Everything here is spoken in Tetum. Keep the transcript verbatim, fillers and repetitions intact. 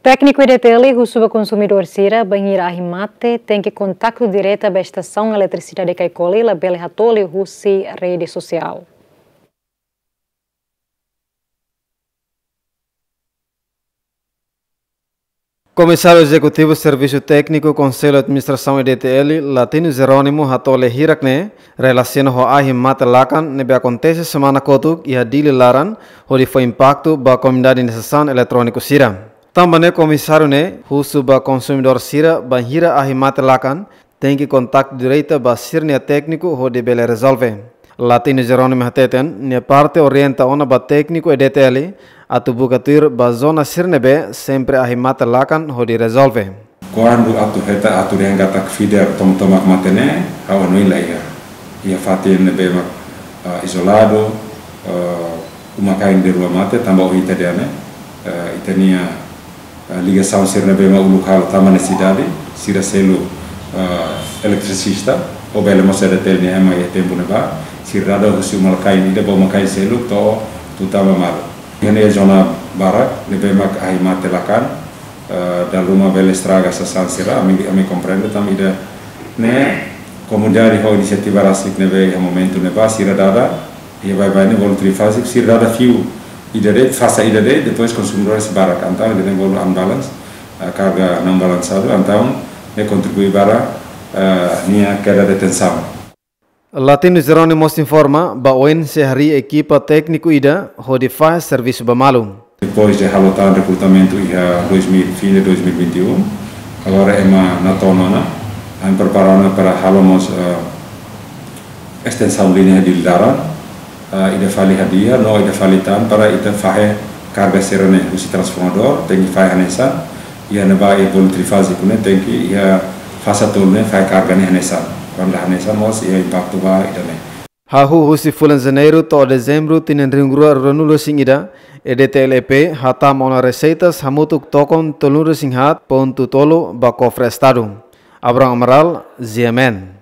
Tékniku E D T L husu ba konsumidór sira, bainhira ahi mate, tenke kontaktu direta ba estasaun eletrisidade Caicoli, labele hatoli husi rede sosiál. Komisáriu Ezekutivu Servisu Tékniku Konsellu Administrasaun E D T L, Latino Jerónimo, hatoli hirak-ne'e relasiona ho ahi mate lakan ne'ebé akontese semana kotuk iha Dili laran, hodi fó impaktu ba komunidade nia sasán eletróniku sira. Tanba ne'e komisáriu ne'e husu ba konsumidór sira, bainhira ahi mate lakan, tenke kontaktu direta ba sira-nia tékniku hodi bele rezolve. Latino Jerónimo hateten, nia parte orienta ona ba tékniku E D T L atu buka tuir ba zona sira ne'ebé sempre ahi mate lakan hodi rezolve. Kuandu atu hetan, atu dehan katak feeder tomak-tomak mate ne'e, ha'u hanoin la iha. Iha fatin ne'ebé mak, ah, izoladu, ah, uma-kain ida-rua mate, tanba ohin ita dehan ne'e, ah, ita-nia ah, ligasaun sira ne'ebé mak uluk halo tama ne'e sidade, sira seluk, ah, eletrisista, ou bele mós E D T L nia ema iha tempu ne'ebá, sira dada husi uma-kain ida ba uma-kain seluk to'o tun tama malu. Iha ne'e zona barak, ne'ebé mak ahi mate lakan, ah, dala ruma bele estraga sasán sira, ami, ami komprende tanba ida-ne'e, komunidade ho inisiativa rasik ne'ebé iha momentu ne'ebá, sira dada, iha baibain ne'e bolu trifáziku, sira dada fiu ida de'it, fasa ida de'it, depois konsumidór sei barak, entaun ida-ne'e bolu unbalance, ah, karga não balanceado, entaun ne'e kontribui para, ah, nia keda de tensaun. Latino Jerónimo mós informa, ba oin sei harii ekipa tékniku ida hodi fahe servisu ba malu. Depois de halo tan rekrutamentu iha dois mil, fim de dois mil e vinte e um, agora ema natoon ona, ami prepara ona para halo mós, eh, estensaun liña Dili laran, eh, ida fali hadi'a, no ida fali tan para ita fahe karga sira-ne'e husi transformadór, tenke fahe hanesan, iha ne'ebá iha bolu trifáziku ne'e, tenke iha fasa tolu ne'e fahe karga ne'e hanesan. Kuandu hanesan mós iha impaktu ba ida-ne'e. Hahú husi fulan Janeiru to'o Dezembru tinan rihun rua ruanulu-resin-ida, E D T L E P hatama ona reseitas hamutuk tokon tolunulu-resin-haat pontu tolu ba kofre Estadu. Abraham Amaral, G M N.